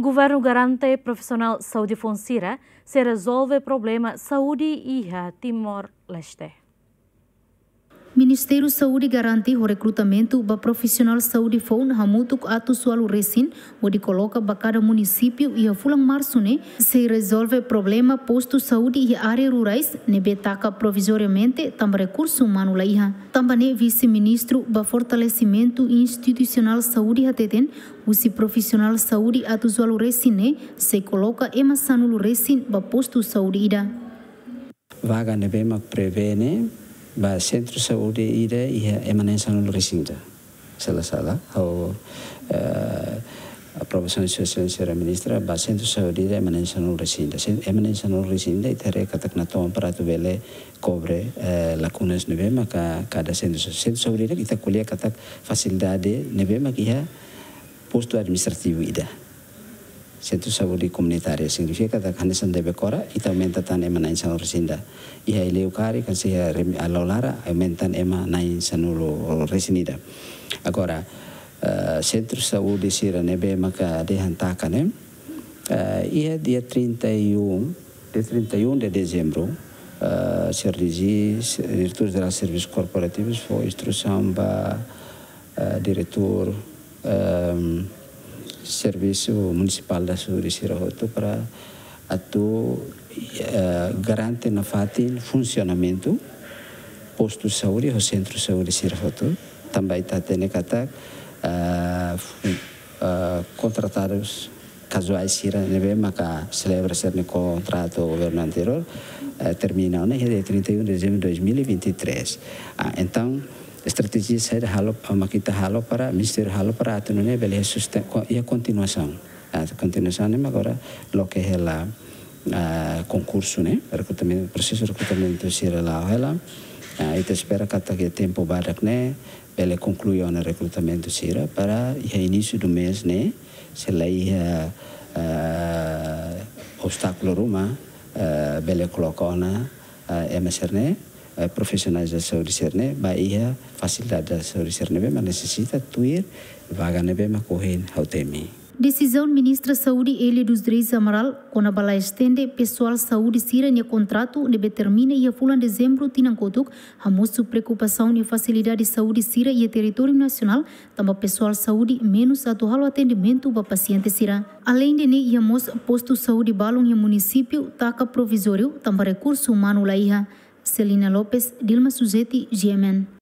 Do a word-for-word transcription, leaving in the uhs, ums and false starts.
Governu garante profisionál saúde foun sira sei rezolve problema saúde iha Timor-Leste. Ministériu Saúde garante ho rekrutamentu ba profisionál saúde foun hamutuk atus ualu resin, hodi koloka ba kada munisípiu iha fulan Marsu ne'e, sei rezolve problema postu saúde iha área rurais ne'ebé taka provizoriamente tanba rekursu umanu la iha. Tanba ne'e Vise-Ministru ba Fortalesimentu Institusionál Saúde hateten, husi profisionál saúde atus ualu resin ne'e, sei koloka ema sanulu resin ba postu saúde ida. Vaga ne'ebé mak prevene ba sentru saúde ida iha ema na'in sanulu resin ida. Se la sala, ha'u, eh, aprovasaun sosiál sira ministra ba sentru saúde ida ema na'in sanulu resin ida. Sen-, ema na'in sanulu resin ida, ita haree katak natoon para atu bele kobre, eh, lakunas ne'ebé maka kada sentru sa-, sentru saúde ida ita ko'alia katak fasilidade ne'ebé mak iha postu administrativu ida. Sentru saúde komunitária signifika katak hanesan Debekora, ita aumenta tan ema na'in sanulu resin ida. Iha Eleucari, kan se iha rem-, Alaolara, aumenta ema na'in sanulu resin ida. Agora, eh, sentru saúde sira ne'ebé maka dehan taka ne'e, eh, iha dia trinta e um, dia trinta e um de dezembro, eh, C R D G, Diretór Jerál Servisus Korporativus, fó instrusaun ba, eh, diretór, ehm, Servisu Munisipál da Saúde sira hotu para atu, eh, garante nafatin funsionamentu postu saúde ho sentru saúde sira hotu. Tanba ita hatene katak, eh, fu-, eh, kontratadus kazuais sira ne'ebé maka selebra sira-nia kontratu governu anteriór, eh, termina ona iha dia trinta e um de dezembro de dois mil e vinte e três. Ah, entaun, estratéjia saida halo, mak ita halo para, ministériu halo para atu nune'e bele susten-, ko-, iha kontinuasaun. Ah, kontinuasaun ne'e mak agora loke hela, ah, konkursu ne'e, rekrutamentu, prosesu rekrutamentu sira la'o hela. Ah, ita espera katak iha tempu badak ne'e bele konklui ona rekrutamentu sira para iha inísiu do mês ne'e, se la iha, ah, obstákulu ruma, ah, bele koloka ona, ah, ema sira-ne'e, eh, profisionais da saúde sira-ne'e ba iha fasilidade da saúde sira ne'ebé mak nesesita tuir vaga ne'ebé mak ohin ha'u temi. Desizaun Ministra Saúde Élia dos Reis Amaral kona-ba la estende pesoál saúde sira-nia kontratu ne'ebé termina iha fulan Dezembru tinan kotuk, hamosu preokupasaun iha fasilidade saúde sira iha territóriu nasionál, tanba pesoál saúde menus atu halo atendimentu ba pasiente sira. Aleinde ne'e, iha mós postu saúde balun iha munisípiu taka provizóriu tanba rekursu umanu la iha. Celina Lopes, Dilma Suzeti, G M N.